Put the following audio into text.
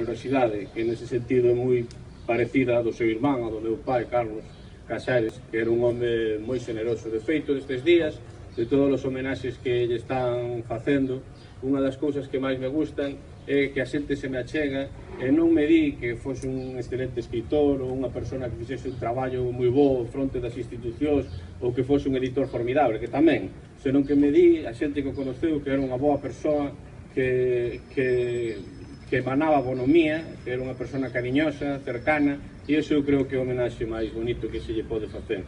generosidade, que nese sentido é moi parecida a do seu irmán, a do meu pai, Carlos Casares, que era un home moi generoso. De feito, estes días, de todos os homenaxes que lle están facendo, unha das cousas que máis me gustan é que a xente se me achega e non me di que fose un excelente escritor ou unha persona que fixese un traballo moi bo fronte das institucións ou que fose un editor formidable, que tamén, senón que me di a xente que o conoceu que era unha boa persoa, que emanaba bonomía, que era unha persona cariñosa, cercana, e iso eu creo que é o homenaxe máis bonito que se lle pode facer.